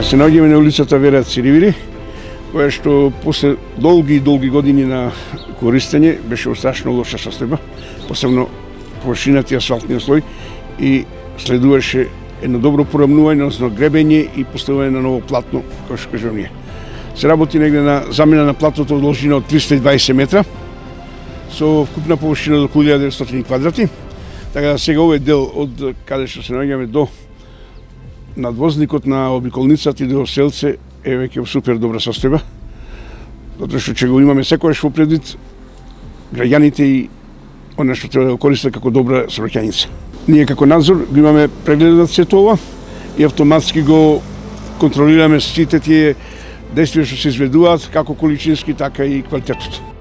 Се наоѓаме на улицата Вера Циревири, која што после долги години на користење беше во страшно лоша состојба, посебно површината и асфалтниот слој, и следуваше едно добро порамнување, односно гребење и поставување на ново платно, кој што кажувам ние. Се работи негде на замена на платното од должина од 320 метра, со вкупна површина до 1900 квадрати. Така да сега овој дел од каде што се наоѓаме до надвозникот на обиколницата и до селце е веќе супер добра состојба. Затоа што ќе го имаме секогаш во предвид граѓаните и она што треба да го користат како добра сообраќајница. Ние како надзор го имаме прегледат сето ова и автоматски го контролираме сите тие действија што се изведуваат, како количински, така и квалитетот.